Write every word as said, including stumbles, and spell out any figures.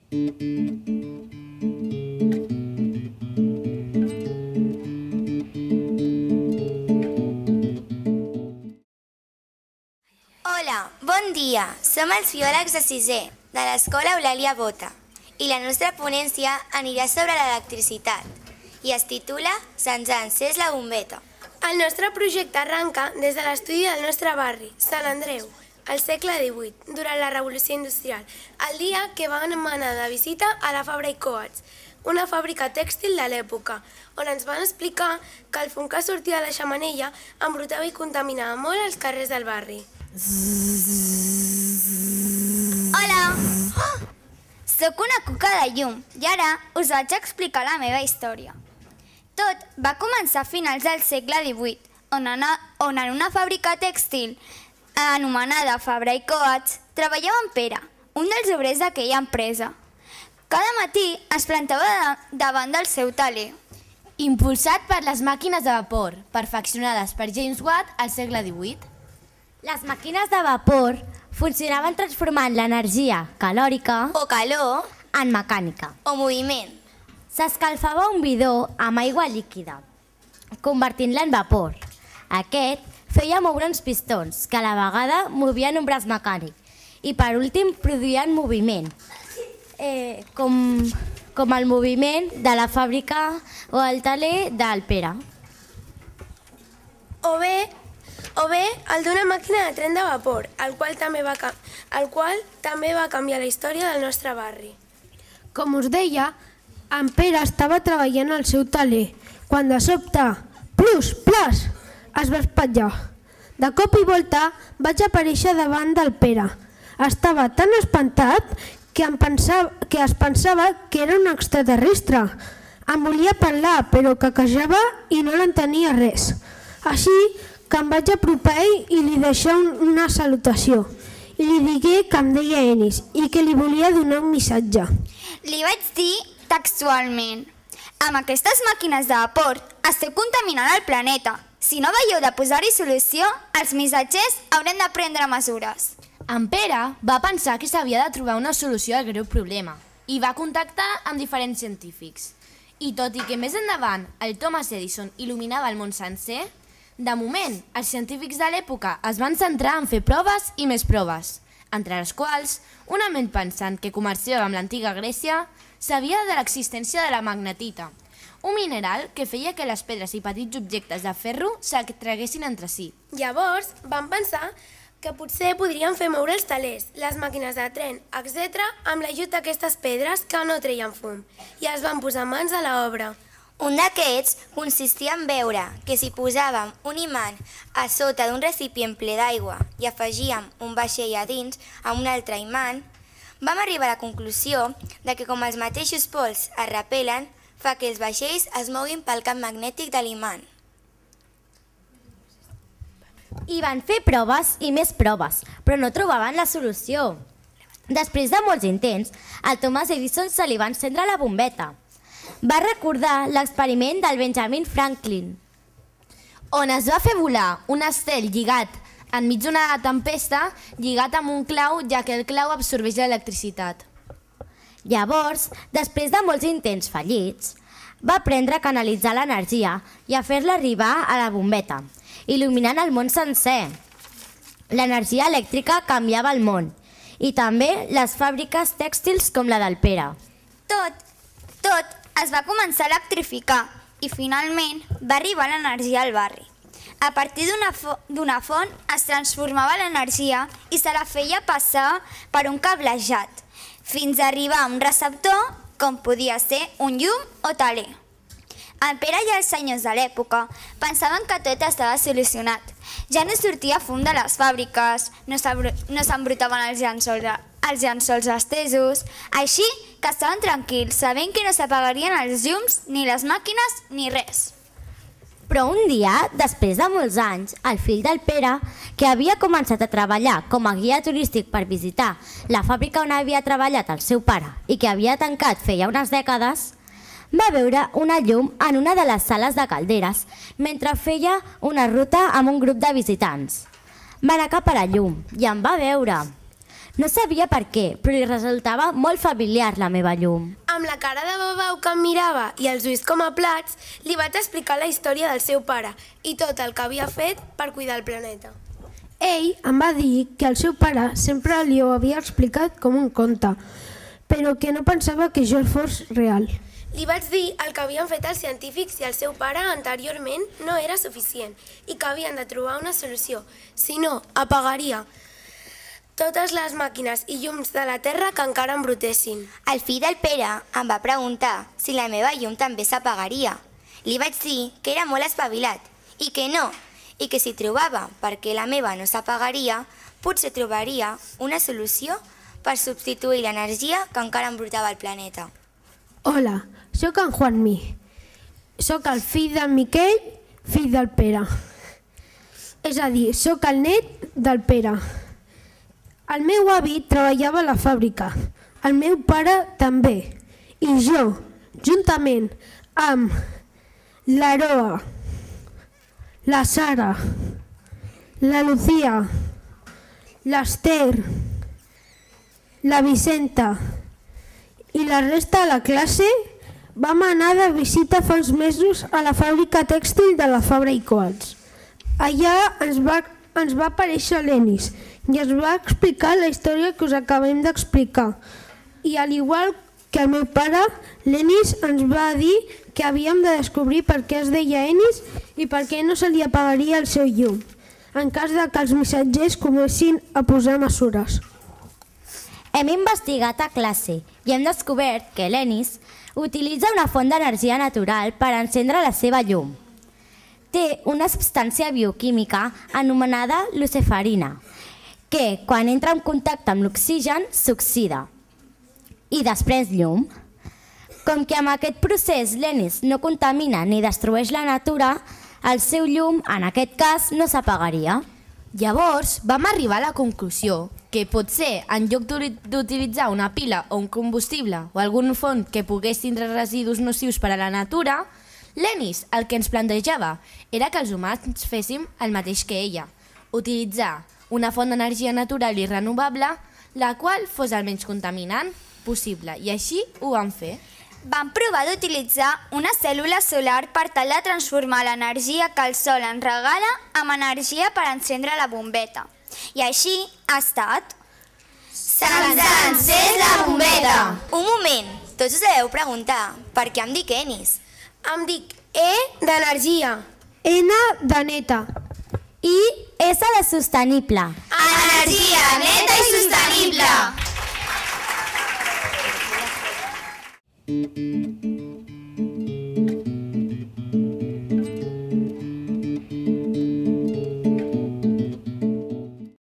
Hola, bon dia. Som els biòlegs de sisè de l'Escola Eulàlia Bota i la nostra ponència anirà sobre l'electricitat i es titula Se'ns ha encès la bombeta. El nostre projecte arranca des de l'estudi del nostre barri, Sant Andreu, al segle divuit, durant la Revolució Industrial, el dia que van anar de visita a la Fabra i Coats, una fàbrica tèxtil de l'època, on ens van explicar que el fum que sortia de la xemeneia embrutava i contaminava molt els carrers del barri. Hola! Oh! Soc una cuca de llum i ara us vaig explicar la meva història. Tot va començar a finals del segle divuit, on en una fàbrica tèxtil anomenada Fabra i Coats treballava en Pere, un dels obrers d'aquella empresa. Cada matí es plantava davant del seu taler. Impulsat per les màquines de vapor, perfeccionades per James Watt al segle divuit. Les màquines de vapor funcionaven transformant l'energia calòrica o calor en mecànica o moviment. S'escalfava un bidó amb aigua líquida, convertint-la en vapor. Aquest feia moure uns pistons que a la vegada movien un braç mecànic i per últim produïen moviment, eh, com, com el moviment de la fàbrica o el taler del Pere. O bé O bé, el d'una màquina de tren de vapor, el qual també va, el qual també va canviar la història del nostre barri. Com us deia, en Pere estava treballant al seu taler, quan de sobte, plus, plas, es va espatllar. De cop i volta vaig aparèixer davant del Pere. Estava tan espantat que, em pensava, que es pensava que era un extraterrestre. Em volia parlar, però caquejava i no l'entenia res. Així que em vaig apropar a ell i li deixar una salutació. I li digué que em deia Enis i que li volia donar un missatge. Li vaig dir textualment: amb aquestes màquines de vapor esteu contaminant el planeta. Si no veieu de posar-hi solució, els missatgers haurem de prendre mesures. En Pere va pensar que s'havia de trobar una solució al greu problema i va contactar amb diferents científics. I tot i que més endavant el Thomas Edison il·luminava el món sencer, de moment, els científics de l'època es van centrar en fer proves i més proves, entre les quals, una ment pensant que comerciava amb l'antiga Grècia sabia de l'existència de la magnetita, un mineral que feia que les pedres i petits objectes de ferro s'atreguessin entre si. Llavors van pensar que potser podrien fer moure els talers, les màquines de tren, etcètera, amb l'ajut d'aquestes pedres que no treien fum, i es van posar mans a l'obra. Un d'aquests consistia en veure que si posàvem un imant a sota d'un recipient ple d'aigua i afegíem un vaixell a dins amb un altre imant, vam arribar a la conclusió de que com els mateixos pols es repel·len, fa que els vaixells es moguin pel camp magnètic de l'imant. I van fer proves i més proves, però no trobaven la solució. Després de molts intents, al Thomas Edison se li va encendre la bombeta. Va recordar l'experiment del Benjamin Franklin, on es va fer volar un estel lligat enmig d'una tempesta, lligat amb un clau, ja que el clau absorbeix l'electricitat. Llavors, després de molts intents fallits, va aprendre a canalitzar l'energia i a fer-la arribar a la bombeta, il·luminant el món sencer. L'energia elèctrica canviava el món, i també les fàbriques tèxtils com la del Pere. Tot, tot es va començar a electrificar i finalment va arribar l'energia al barri. A partir d'una font es transformava l'energia i se la feia passar per un cablejat, fins a arribar a un receptor com podia ser un llum o taler. El Pere i els senyors de l'època pensaven que tot estava solucionat. Ja no sortia fum de les fàbriques, no s'embrutaven els llençols, els llençols estesos, així que estaven tranquils, sabent que no s'apagarien els llums, ni les màquines, ni res. Però un dia, després de molts anys, el fill del Pere, que havia començat a treballar com a guia turístic per visitar la fàbrica on havia treballat el seu pare i que havia tancat feia unes dècades, va veure una llum en una de les sales de calderes mentre feia una ruta amb un grup de visitants. Va anar cap a la llum i em va veure. No sabia per què, però li resultava molt familiar la meva llum. Amb la cara de babau que em mirava i els ulls com a plats, li vaig explicar la història del seu pare i tot el que havia fet per cuidar el planeta. Ell em va dir que el seu pare sempre li ho havia explicat com un conte, però que no pensava que això fos real. Li vaig dir el que havien fet els científics i el seu pare anteriorment no era suficient i que havien de trobar una solució, si no, apagaria totes les màquines i llums de la Terra que encara embrutessin. El fill del Pere em va preguntar si la meva llum també s'apagaria. Li vaig dir que era molt espavilat i que no, i que si trobava per què la meva no s'apagaria, potser trobaria una solució per substituir l'energia que encara embrutava el planeta. Hola, sóc en Juanmi. Sóc el fill del Miquel, fill del Pere. És a dir, sóc el net del Pere. El meu avi treballava a la fàbrica, el meu pare també, i jo, juntament amb l'Aroa, la Sara, la Lucía, l'Ester, la Vicenta i la resta de la classe vam anar de visita fa uns mesos a la fàbrica tèxtil de la Fabra i Coats. Allà ens va, ens va aparèixer l'Enis i ens va explicar la història que us acabem d'explicar. I al igual que el meu pare, l'Enis ens va dir que havíem de descobrir per què es deia Enis i per què no se li apagaria el seu llum, en cas de que els missatgers comencin a posar mesures. Hem investigat a classe i hem descobert que l'Enis utilitza una font d'energia natural per encendre la seva llum. Té una substància bioquímica anomenada luciferina, que quan entra en contacte amb l'oxigen s'oxida i després llum. Com que amb aquest procés l'Enis no contamina ni destrueix la natura, el seu llum, en aquest cas, no s'apagaria. Llavors vam arribar a la conclusió que potser en lloc d'utilitzar una pila o un combustible o algun font que pogués tindre residus nocius per a la natura, l'Enis el que ens plantejava era que els humans féssim el mateix que ella, utilitzar una font d'energia natural i renovable, la qual fos el menys contaminant possible, i així ho vam fer. Vam provar d'utilitzar una cèl·lula solar per tal de transformar l'energia que el sol ens regala amb energia per encendre la bombeta. I així ha estat... Se'ns ha encès la bombeta! Un moment, tots us deveu preguntar per què em dic Enis. Em dic E d'energia. N de neta. I S de sostenible. Energia neta i sostenible!